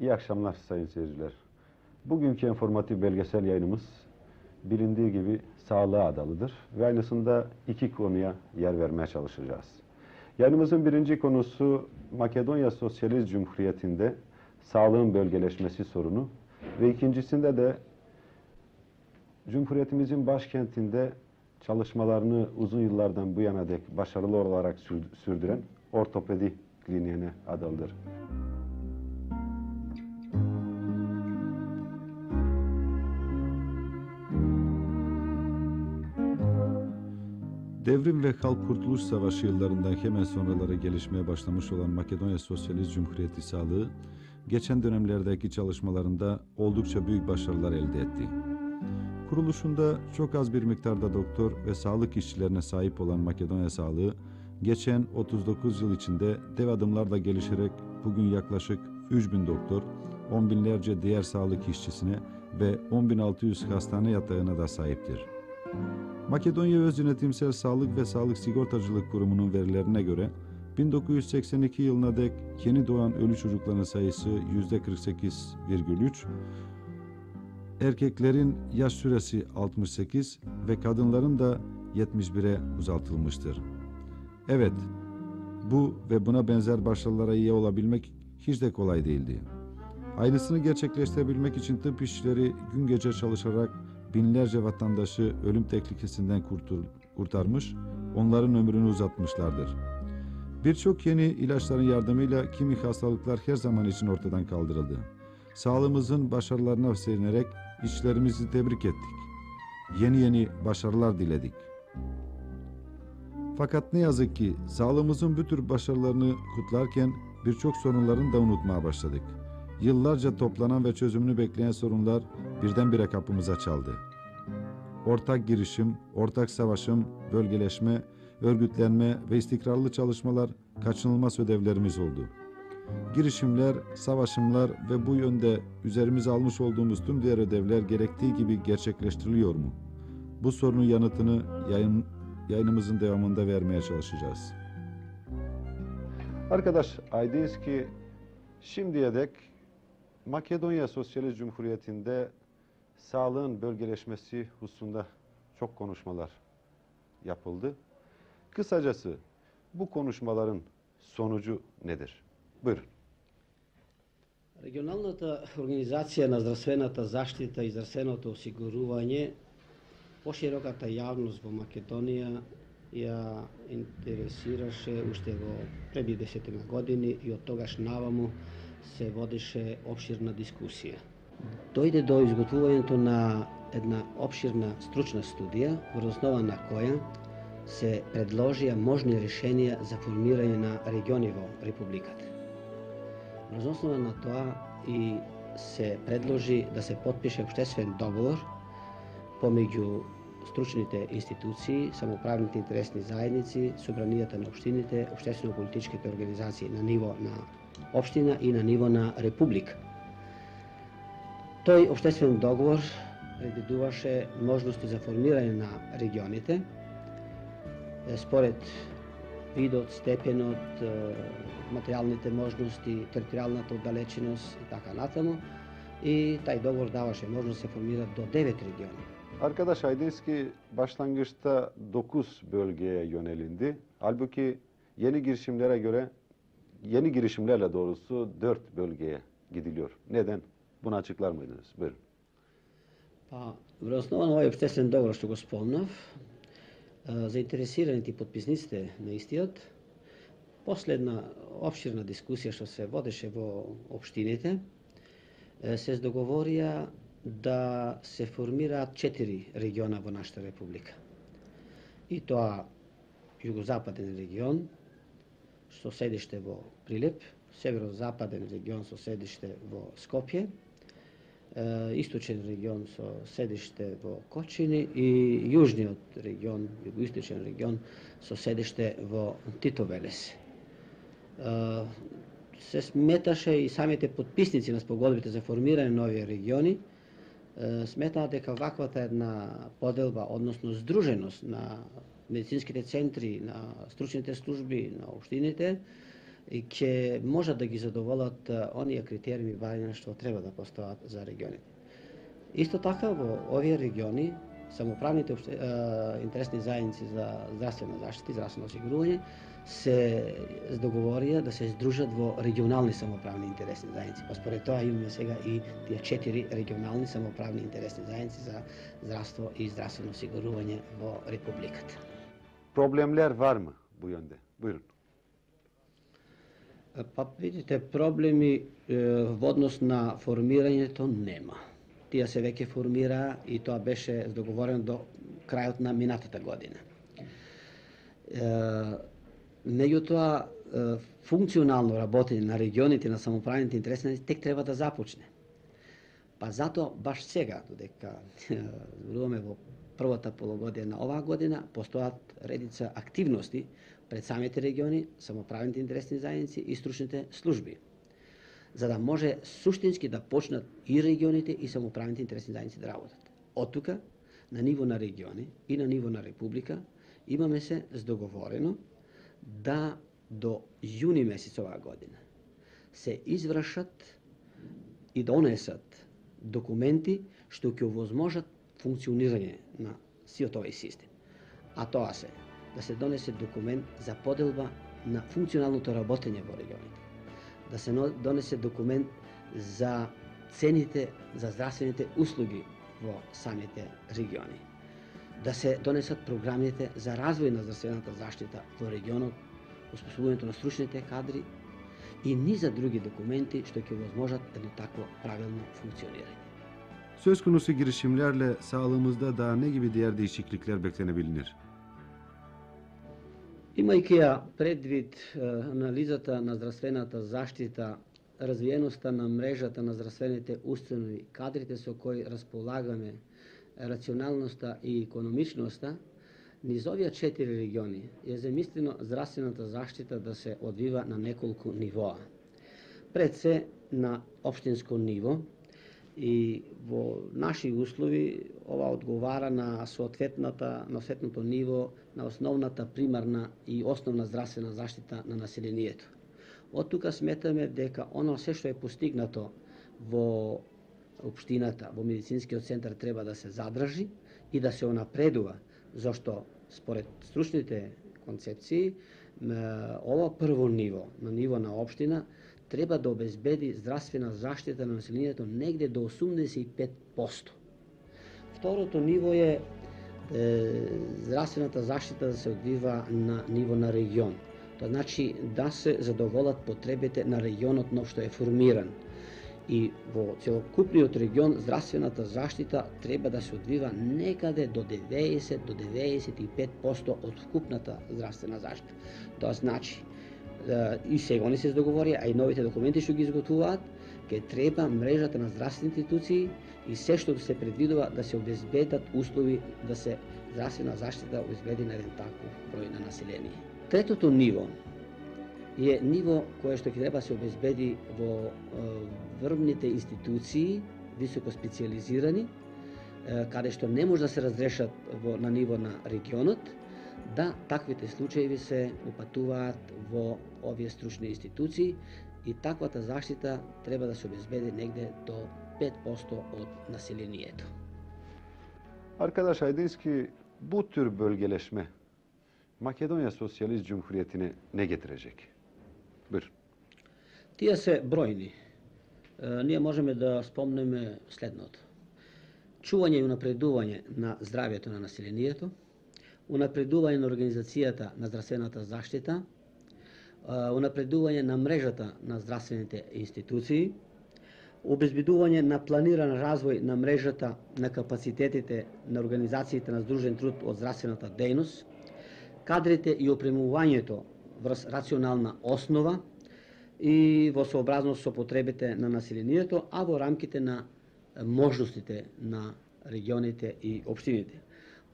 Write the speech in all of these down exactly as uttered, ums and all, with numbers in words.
İyi akşamlar sayın seyirciler. Bugünkü informatif belgesel yayınımız bilindiği gibi sağlığa adalıdır ve aynısında iki konuya yer vermeye çalışacağız. Yayınımızın birinci konusu Makedonya Sosyalist Cumhuriyeti'nde sağlığın bölgeleşmesi sorunu ve ikincisinde de Cumhuriyetimizin başkentinde çalışmalarını uzun yıllardan bu yana dek başarılı olarak sürdüren ortopedi kliniğine adalıdır. Devrim ve Halk Kurtuluş Savaşı yıllarından hemen sonraları gelişmeye başlamış olan Makedonya Sosyalist Cumhuriyeti sağlığı, geçen dönemlerdeki çalışmalarında oldukça büyük başarılar elde etti. Kuruluşunda çok az bir miktarda doktor ve sağlık işçilerine sahip olan Makedonya sağlığı, geçen otuz dokuz yıl içinde dev adımlarla gelişerek bugün yaklaşık üç bin doktor, on binlerce diğer sağlık işçisine ve on bin altı yüz hastane yatağına da sahiptir. Makedonya Öz Yönetimsel Sağlık ve Sağlık Sigortacılık Kurumu'nun verilerine göre bin dokuz yüz seksen iki yılına dek yeni doğan ölü çocukların sayısı yüzde kırk sekiz virgül üç, erkeklerin yaş süresi altmış sekiz ve kadınların da yetmiş bire uzatılmıştır. Evet, bu ve buna benzer başarılara iyi olabilmek hiç de kolay değildi. Aynısını gerçekleştirebilmek için tıp işçileri gün gece çalışarak binlerce vatandaşı ölüm tehlikesinden kurtul, kurtarmış, onların ömrünü uzatmışlardır. Birçok yeni ilaçların yardımıyla kimi hastalıklar her zaman için ortadan kaldırıldı. Sağlığımızın başarılarına sevinerek işçilerimizi tebrik ettik. Yeni yeni başarılar diledik. Fakat ne yazık ki sağlığımızın bu tür başarılarını kutlarken birçok sorunların da unutmaya başladık. Yıllarca toplanan ve çözümünü bekleyen sorunlar birdenbire kapımıza çaldı. Ortak girişim, ortak savaşım, bölgeleşme, örgütlenme ve istikrarlı çalışmalar kaçınılmaz ödevlerimiz oldu. Girişimler, savaşımlar ve bu yönde üzerimize almış olduğumuz tüm diğer ödevler gerektiği gibi gerçekleştiriliyor mu? Bu sorunun yanıtını yayın, yayınımızın devamında vermeye çalışacağız. Arkadaş aydınız ki şimdiye dek Makedonya Sosyalist Cumhuriyeti'nde sağlığın bölgeleşmesi hususunda çok konuşmalar yapıldı. Kısacası bu konuşmaların sonucu nedir? Buyurun. Регионалната организација на здравствената заштита и здравственото осигурување пошироката јавност во Македонија ја интересираше уште во пред десетина години и од тогаш наваму се водеше обширна дискусија. Дојде до изготвувањето на една обширна стручна студија, врз основа на која се предложија можни решенија за формирање на региони во Републиката. Врз основа на тоа и се предложи да се потпише општествен договор помеѓу стручните институции, самоуправните интересни заедници, собранијата на општините, општествено-политичките организации на ниво на општина и на ниво на република. Тој општествен договор предвидуваше можности за формирање на регионите според видот, степенот, материјалните можности, територијалната оддалеченост и така натаму. И тај договор даваше можност да се формират до девет региони. Arkadaş aydınız ki başlangıçta dokuz bölgeye yönelindi. Halbuki yeni girişimlere göre, yeni girişimlerle doğrusu dört bölgeye gidiliyor. Neden? Bunu açıklar mıydınız? Buyurun. Pa, во основа на овој општествен договор што го спомнав, заинтересираните и подписниците на истиот, последна обширна дискусија што се водеше во општините, се договорија да се формираат четири региона во нашата република. И тоа југозападен регион со седиште во Прилеп, северозападен регион со седиште во Скопје, источен регион со седиште во Кочини и јужниот регион, југоисточен регион со седиште во Титовелес. Се сметаше и самите подписници на спогодбите за формирање на овие региони сметаат дека ваквата една поделба, односно здруженост на медицинските центри, на стручните служби, на општините, и ќе можат да ги задоволат оние критериуми барања што треба да постојат за регионите. Исто така во овие региони самоуправните е, интересни заедници за здравствена заштита и здравствено осигурување се договорија да се здружат во регионални самоуправни интересни заедници. Па според тоа имаме сега и тие четири регионални самоуправни интересни заедници за здравство и здравствено осигурување во републиката. Problemler var mı bu yönde? Buyurun. Па видите, проблеми е, во однос на формирањето нема. Тие се веќе формира и тоа беше договорено до крајот на минатата година. Е, меѓутоа, е, функционално работење на регионите на самоуправните интересни тек треба да започне. Па затоа баш сега, додека зборуваме во првата полугодина на оваа година, постојат редица активности пред самите региони, самоуправните интересни заедници и стручните служби, за да може суштински да почнат и регионите и самоуправните интересни заедници да работат. Од тука, на ниво на региони и на ниво на република, имаме се здоговорено да до јуни месец оваа година се извршат и донесат документи што ќе овозможат функционирање на сиот овој систем. А тоа се да се донесе документ за поделба на функционалното работење во регионите, да се донесе документ за цените за здравствените услуги во самите региони, да се донесат програмите за развој на здравствената заштита во регионот, оспособувањето на стручните кадри и низа други документи што ќе овозможат едно такво правилно функционирање. Söz konusu girişimlerle sağlığımızda daha ne gibi diğer değişiklikler beklenebilir? Имајќи ја предвид е, анализата на здравствената заштита, развиеноста на мрежата на здравствените установи, кадрите со кои располагаме, рационалноста и економичноста, низ овие четири региони е замислено здравствената заштита да се одвива на неколку нивоа. Пред се на општинско ниво, и во наши услови ова одговара на соодветната на соодветното ниво на основната примарна и основна здравствена заштита на населението. Од тука сметаме дека оно се што е постигнато во општината, во медицинскиот центар треба да се задржи и да се унапредува, зашто според стручните концепции ова прво ниво, на ниво на општина, треба да обезбеди здравствена заштита на населението негде до осумдесет и пет проценти. Второто ниво е, е здравствената заштита да се одвива на ниво на регион. Тоа значи да се задоволат потребите на регионот нов што е формиран. И во целокупниот регион здравствената заштита треба да се одвива некаде до деветдесет до деветдесет и пет проценти од вкупната здравствена заштита. Тоа значи и сега они се договори, а и новите документи што ги изготвуваат, ке треба мрежата на здравствени институции и се што се предвидува да се обезбедат услови да се здравствена заштита обезбеди на еден таков број на население. Третото ниво е ниво кое што ќе треба се обезбеди во врвните институции, високо специализирани, каде што не може да се разрешат во, на ниво на регионот, да таквите случаи се упатуваат во овие стручни институции и таквата заштита треба да се обезбеди негде до пет проценти од населението. Arkadaş Aydınski, bu tür bölgeleşme Makedonya Sosyalist Cumhuriyeti'ne ne getirecek? Buyurun. Тие се бројни. Е, ние можеме да спомнеме следното. Чување и унапредување на здравјето на населението, унапредување на организацијата на здравствената заштита, унапредување на мрежата на здравствените институции, обезбедување на планиран развој на мрежата на капацитетите на организациите на здружен труд од здравствената дејност, кадрите и опремувањето врз рационална основа и во сообразност со потребите на населението, а во рамките на можностите на регионите и општините.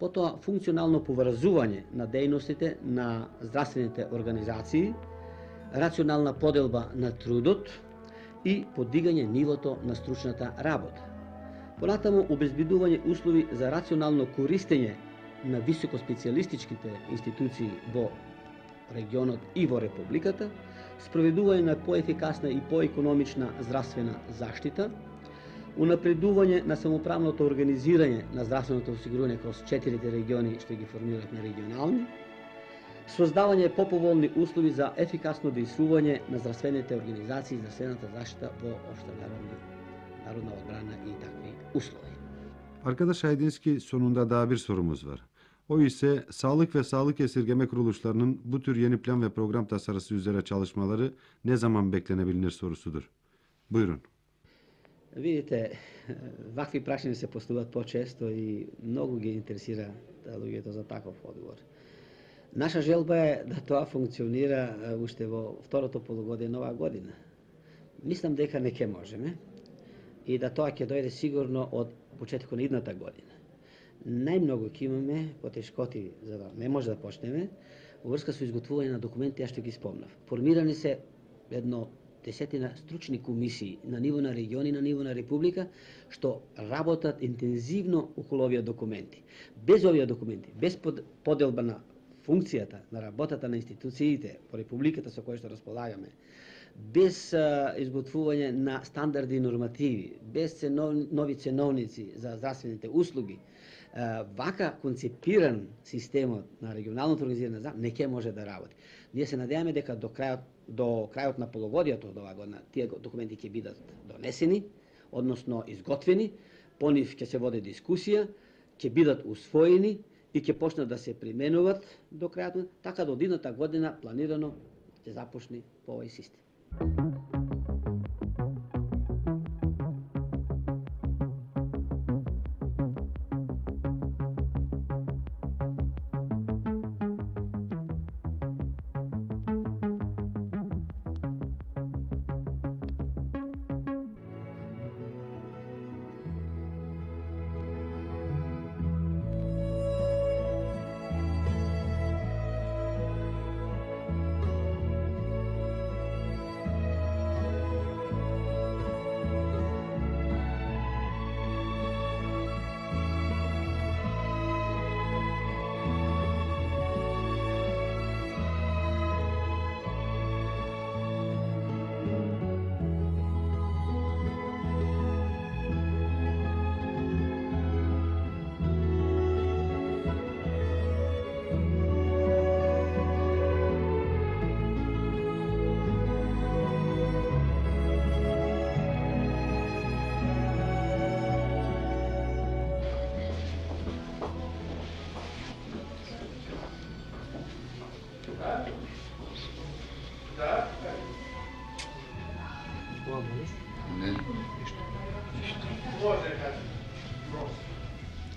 Потоа функционално поврзување на дејностите на здравствените организации, рационална поделба на трудот и подигање нивото на стручната работа. Понатаму обезбедување услови за рационално користење на високоспецијалистичките институции во регионот и во републиката, спроведување на поефикасна и поекономична здравствена заштита, унапредување на самоуправното организирање на здравственото осигурување кроз четирите региони што ги формирахме регионални, создавање поповолни услови за ефикасно действување на здравствените организации и здравствената заштита во општа народна, народна одбрана и такви услови. Arkadaş Aydinski sonunda daha bir sorumuz var. O ise sağlık ve sağlık esirgeme kuruluşlarının bu tür yeni plan ve program tasarısı üzere çalışmaları ne zaman beklenebilir sorusudur. Buyurun. Видите, вакви прашања се поставуваат почесто и многу ги интересира луѓето за таков одговор. Наша желба е да тоа функционира уште во второто полугодие на оваа година. Мислам дека не ќе можеме и да тоа ќе дојде сигурно од почетокот на идната година. Најмногу ќе имаме потешкоти за да не може да почнеме во врска со изготвување на документи, ја што ги спомнав. Формирани се едно десетина стручни комисии на ниво на региони, на ниво на република, што работат интензивно околу овие документи. Без овие документи, без поделба на функцијата на работата на институциите по републиката со кои што располагаме, без а, изготвување на стандарди и нормативи, без ценов, нови ценовници за здравствените услуги, а, вака концепиран системот на регионалното организирање не ќе може да работи. Ние се надеваме дека до крајот до крајот на полугодието од оваа година тие документи ќе бидат донесени, односно изготвени, по нив ќе се води дискусија, ќе бидат усвоени и ќе почнат да се применуваат до крајот, така до идната година планирано ќе започне по овој систем.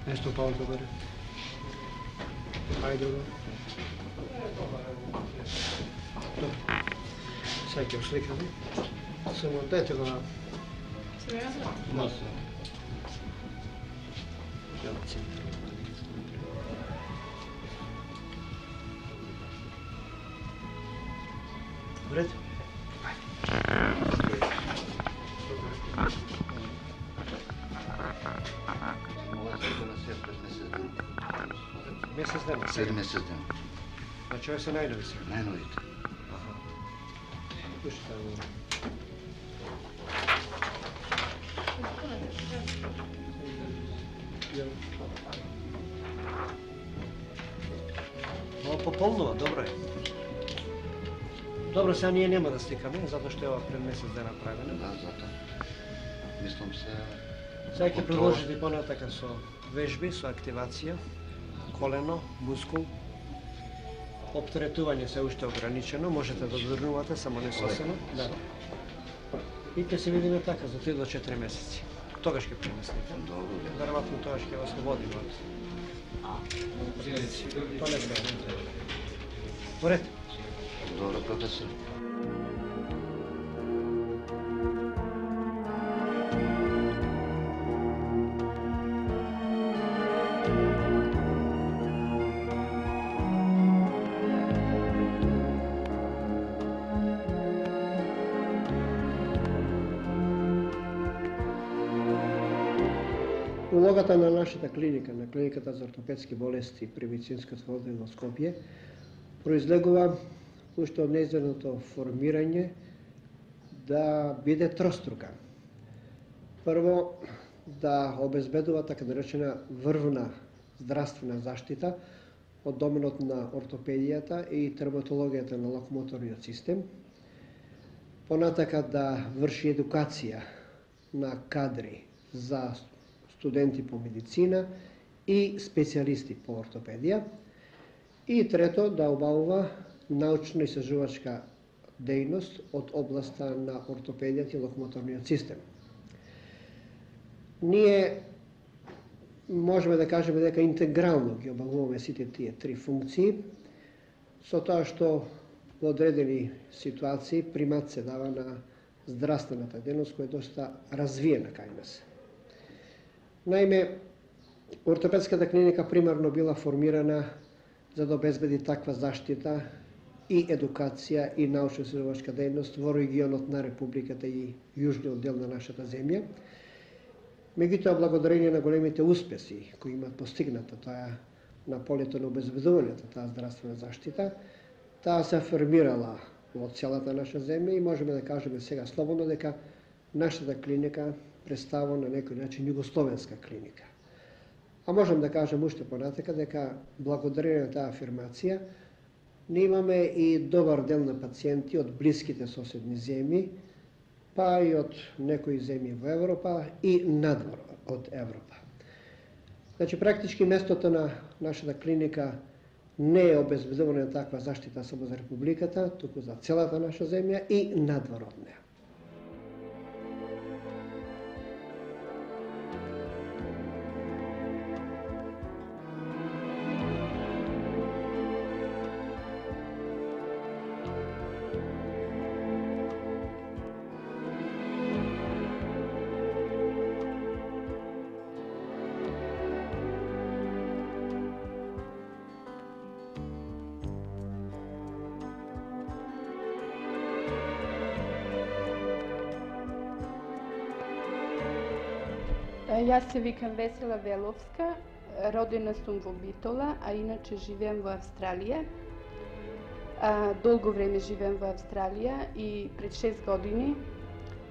Nešto Paolo govorio. Ajde, dobro. Dobro. Sad ćemo slikati. Samo dajte ga na... Sve ja znam? Da. U redu? Mjesec dana? Sedam mjesec dana. Znači ovo je sve najnovi sve? Najnovite. Aha. Puši tamo. Ovo popolnova, dobro je. Dobro, сега ние нема да стикаме, затоа што е ова пред месец дена правено. Да, затоа. Мислам се... Сега ќе продолжите понатака со вежби, со активација, колено, мускул. Оптеретување се уште ограничено, можете да додрнувате, само не сосено. Да. И ќе се видиме така за три до четири месеци. Тогаш ќе премислите. Добро, да. Веројатно тогаш ќе вас ослободиме од прилици. Тоа не треба. Поред. Добро, професор. Улогата на нашата клиника, на клиниката за ортопедски болести при медицинската оддел во Скопје, произлегува уште од нејзиното формирање да биде трострука. Прво, да обезбедува така наречена врвна здравствена заштита од доменот на ортопедијата и травматологијата на локомоторниот систем. Понатака да врши едукација на кадри за студенти по медицина и специјалисти по ортопедија. И трето, да обавува научно-истражувачка дејност од областа на ортопедијата и локомоторниот систем. Ние можеме да кажеме дека интегрално ги обавуваме сите тие три функции, со тоа што во одредени ситуации примат се дава на здравствената дејност која е доста развиена кај нас. Наиме, ортопедската клиника примарно била формирана за да обезбеди таква заштита и едукација и научно-истражувачка дејност во регионот на Републиката и јужниот дел на нашата земја. Меѓутоа, благодарение на големите успеси кои имат постигната тоа на полето на обезбедувањето таа здравствена заштита, таа се формирала во целата наша земја и можеме да кажеме сега слободно дека нашата клиника представува на некој начин југословенска клиника. А можем да кажем уште понатака дека благодарение на таа афирмација ние имаме и добар дел на пациенти од блиските соседни земји, па и од некои земји во Европа и надвор од Европа. Значи, практички местото на нашата клиника не е обезбедување на таква заштита само за Републиката, туку за целата наша земја и надвор од неа. Јас се викам Весела Веловска, родена сум во Битола, а иначе живеем во Австралија. А, долго време живеем во Австралија и пред шест години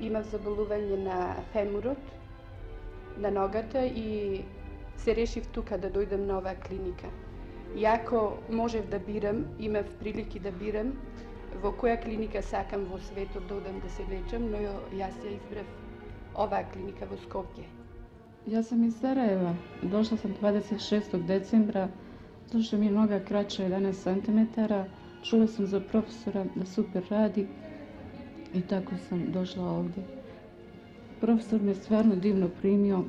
имав заболување на фемурот, на ногата и се решив тука да дојдем на оваа клиника. Иако можев да бирам, имав прилики да бирам во која клиника сакам во светот да одам да се лечам, но јас ја избрав оваа клиника во Скопје. Јас сам из Сараева. Дошла сам дваесет и шестог децембра. Дошла ми е нога краќа еданаесет сантиметара. Чула сам за професора да супер ради и тако сам дошла овде. Професор ме стварно дивно примио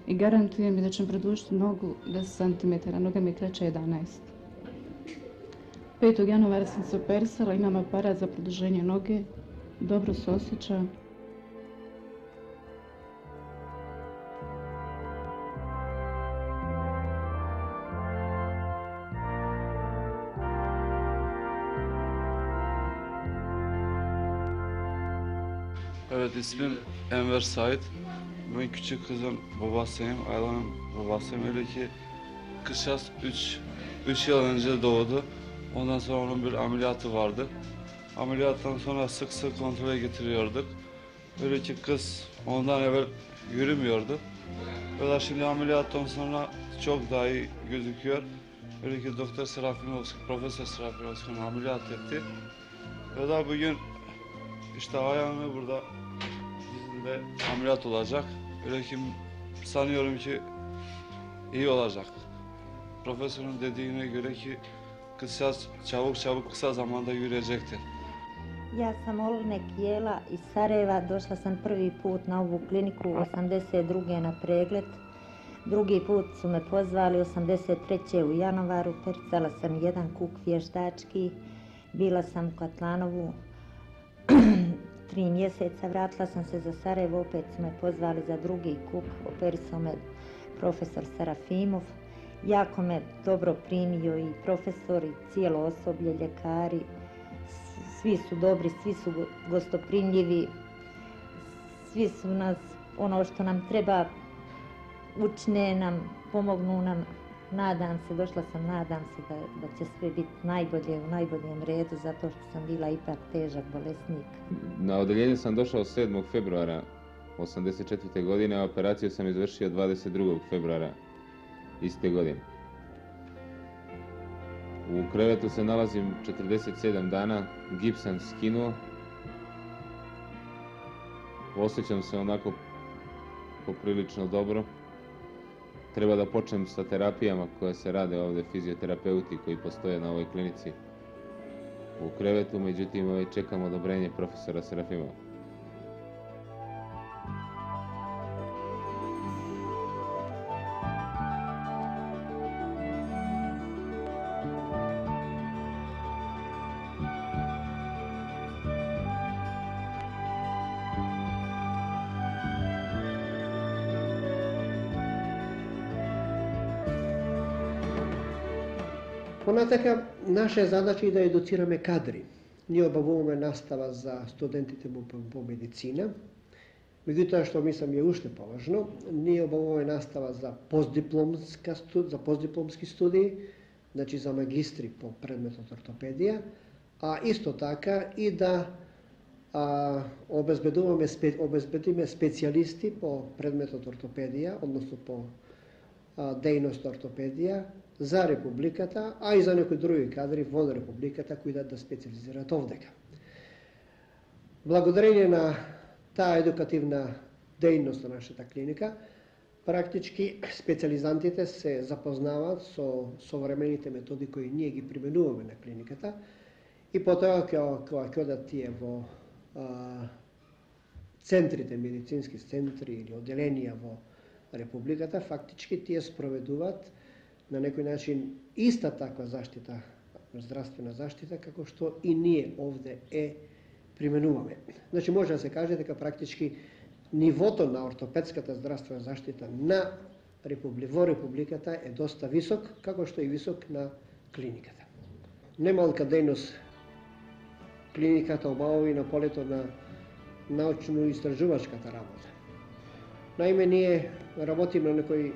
и гарантуjem ми да ќе продолжити ногу десет сантиметара. Нога ми е краќа еданаесет. петог јануара сам се оперисала, имам апарат за продолжење ноге. Добро се осеќам. Evet, ismim Enver Sait. Ben küçük kızın babasıyım, Ayla'nın babasıyım. Öyle ki kışas üç yıl önce doğdu. Ondan sonra onun bir ameliyatı vardı. Ameliyattan sonra sık sık kontrole getiriyorduk. Öyle ki kız ondan evvel yürümüyordu. Öyle şimdi ameliyattan sonra çok daha iyi gözüküyor. Öyle ki Doktor Serafimovski, Profesör Serafimovski ameliyat etti. Öyle bugün işte ayağını burada dizinde ameliyat olacak. Öyle ki sanıyorum ki iyi olacak. Profesörün dediğine göre ki kısa, çabuk çabuk kısa zamanda yürüyecektir. Ja sam Olne Kijela iz Sarajeva, došla sam prvi put na ovu kliniku osamdeset druge na pregled. Drugi put su me pozvali osamdeset treće u januaru, percala sam jedan kuk vještački, bila sam u Katlanovu tri mjeseca, vratila sam se za Sarajevo, opet su me pozvali za drugi kuk, operisao me profesor Serafimov. Jako me dobro primio i profesor i cijelo osoblje, ljekari, svi su dobri, svi su gostoprimljivi, svi su nas, ono što nam treba, učine nam, pomognu nam Nadam se, došla sam, nadam se da, da će sve biti najbolje, u najboljem redu, zato što sam bila ipak težak bolesnik. Na odeljenje sam došao sedmog februara osamdeset četvrte godine, a operaciju sam izvršio dvadeset drugog februara iste godine. U krevetu se nalazim četrdeset sedam dana, gips sam skinuo. Osjećam se onako poprilično dobro. Treba da počnem sa terapijama koje se rade ovde, fizioterapeuti koji postoje na ovoj klinici u krevetu, međutim ovaj, čekam odobrenje profesora Serafimova. Понатака, наша е задача и да едуцираме кадри. Ние обавуваме настава за студентите по, по медицина, меѓутоа што мислам е уште поважно, ние обавуваме настава за постдипломска студ, за постдипломски студии, значи за магистри по предметот ортопедија, а исто така и да а, обезбедуваме обезбедиме специјалисти по предметот ортопедија, односно по а, дејност ортопедија за Републиката, а и за некои други кадри во Републиката кои да да специализираат овдека. Благодарение на таа едукативна дејност на нашата клиника, практички специализантите се запознаваат со современите методи кои ние ги применуваме на клиниката и потоа кога ќе одат тие во а, центрите, медицински центри или одделенија во Републиката, фактички тие спроведуваат на некој начин иста таква заштита, здравствена заштита, како што и ние овде е применуваме. Значи, може да се каже дека практички нивото на ортопедската здравствена заштита на Републи... во Републиката е доста висок, како што и висок на клиниката. Немалка дејност клиниката обави на полето на научно-истражувачката работа. Наиме, ние работиме на некои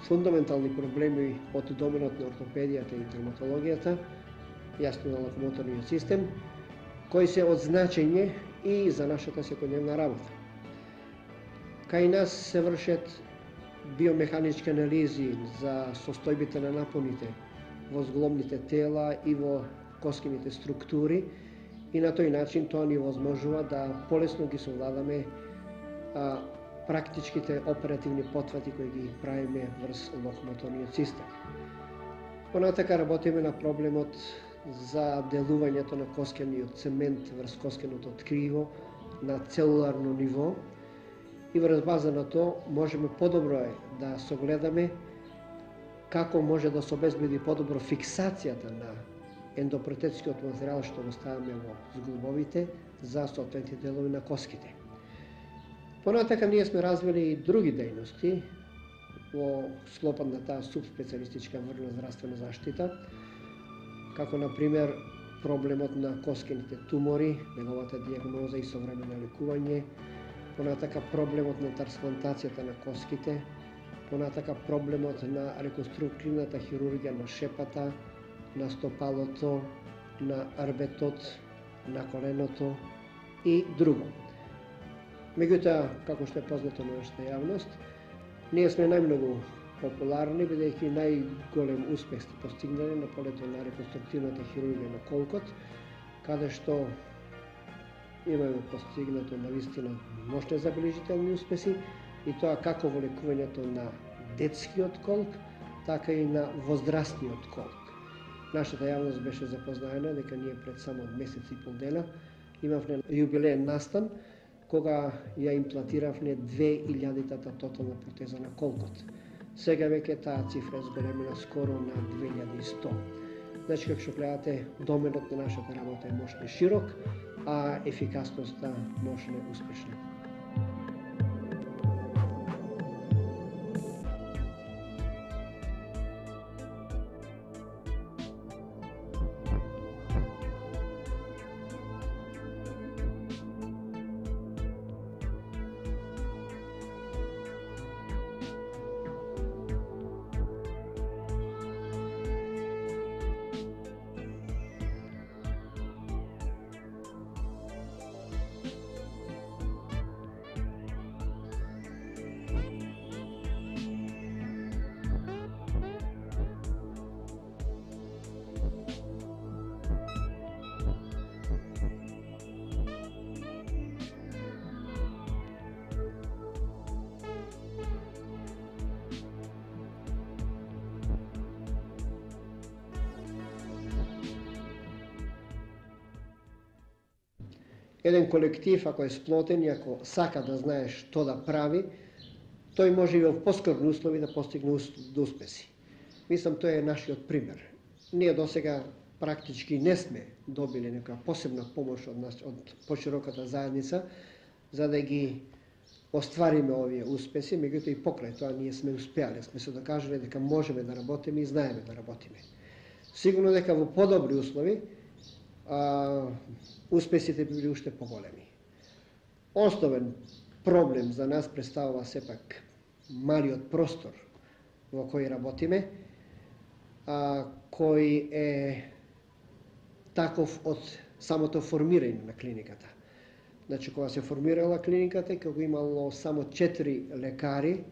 фундаментални проблеми од доменот на ортопедијата и травматологијата, јасно на локомоторниот систем, кои се од значење и за нашата секојдневна работа. Кај нас се вршат биомеханички анализи за состојбите на напоните во зглобните тела и во коскините структури и на тој начин тоа ни возможува да полесно ги совладаме а, практичките оперативни потвати кои ги правиме врз локомоторниот систем. Понатака работиме на проблемот за делувањето на коскениот цемент врз коскеното ткриво на целуларно ниво и врз база на тоа можеме подобро е да согледаме како може да се обезбеди подобро фиксацијата на ендопротетскиот материјал што го ставаме во зглобовите за соодветните делови на коските. Понатака ние сме развили и други дејности во склопот на таа субспецијалистичка врна здравствена заштита, како на пример проблемот на коскените тумори, неговата дијагноза и современо лекување, понатака проблемот на трансплантацијата на коските, понатака проблемот на реконструктивната хирургија на шепата, на стопалото, на арбетот, на коленото и друго. Меѓутоа, како што е познато на нашата јавност, ние сме најмногу популарни, бидејќи најголем успех сте постигнали на полето на реконструктивната хирургија на колкот, каде што имаме постигнато навистина мощни забележителни успеси и тоа како во лекувањето на детскиот колк, така и на возрастниот колк. Нашата јавност беше запознаена дека ние пред само месец и пол дена имавме јубилеен настан кога ја имплантиравме две илјадитата тотална протеза на колкот. Сега веќе таа цифра е зголемена скоро на две илјади и сто. Значи, како што гледате, доменот на нашата работа е мощно широк, а ефикасноста мощно успешна. еден колектив, ако е сплотен и ако сака да знае што да прави, тој може и во поскорни услови да постигне до успеси. Мислам, тој е нашиот пример. Ние досега практички не сме добили нека посебна помош од нас, од пошироката заедница, за да ги оствариме овие успеси, меѓутоа и покрај тоа ние сме успеале, сме се докажале дека можеме да работиме и знаеме да работиме. Сигурно дека во подобри услови а, успесите би били уште поголеми. Основен проблем за нас представува сепак малиот простор во кој работиме, а, кој е таков од самото формирање на клиниката. Значи, кога се формирала клиниката, кога имало само четири лекари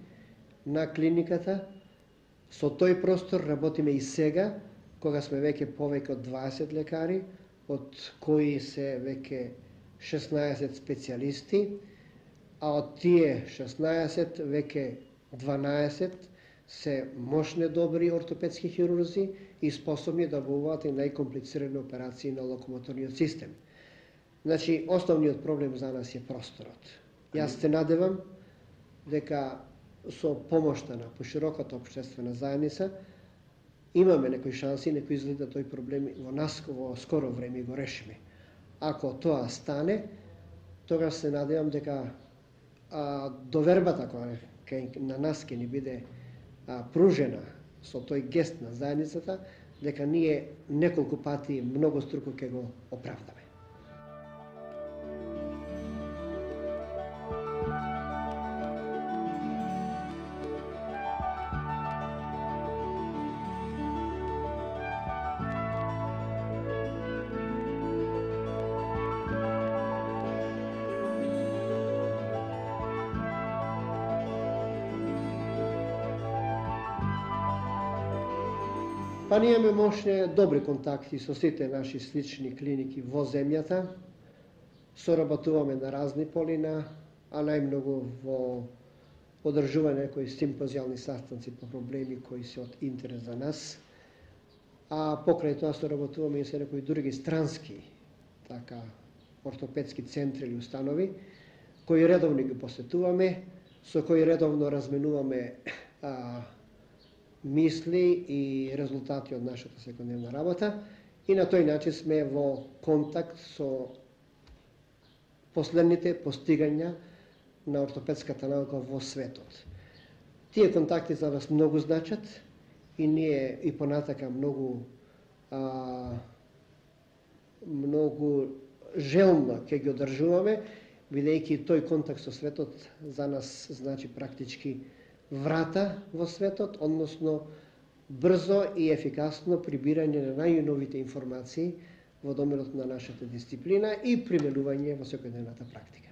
на клиниката, со тој простор работиме и сега, кога сме веќе повеќе од дваесет лекари, од кои се веќе шеснаесет специјалисти, а од тие шеснаесет веќе дванаесет се мощни добри ортопедски хирурзи и способни да обуват и најкомплицирани операции на локомоторниот систем. Значи, основниот проблем за нас е просторот. Јас се надевам дека со помошта на пошироката општествена заедница имаме некои шанси, некои изгледа тој проблем во нас во скоро време го решиме. Ако тоа стане, тогаш се надевам дека а, довербата која на нас ќе ни биде а, пружена со тој гест на заедницата, дека ние неколку пати многу струко ќе го оправдаме. Па ние имаме мощни добри контакти со сите наши слични клиники во земјата. Соработуваме на разни полина, а најмногу во одржување некои симпозијални састанци по проблеми кои се од интерес за нас. А покрај тоа соработуваме и со некои други странски така ортопедски центри или установи, кои редовно ги посетуваме, со кои редовно разменуваме а, мисли и резултати од нашата секојдневна работа и на тој начин сме во контакт со последните постигања на ортопедската наука во светот. Тие контакти за нас многу значат и ние и понатака многу а, многу желно ќе ги одржуваме, бидејќи тој контакт со светот за нас значи практички врата во светот, односно брзо и ефикасно прибирање на најновите информации во доменот на нашата дисциплина и применување во секојдневната практика.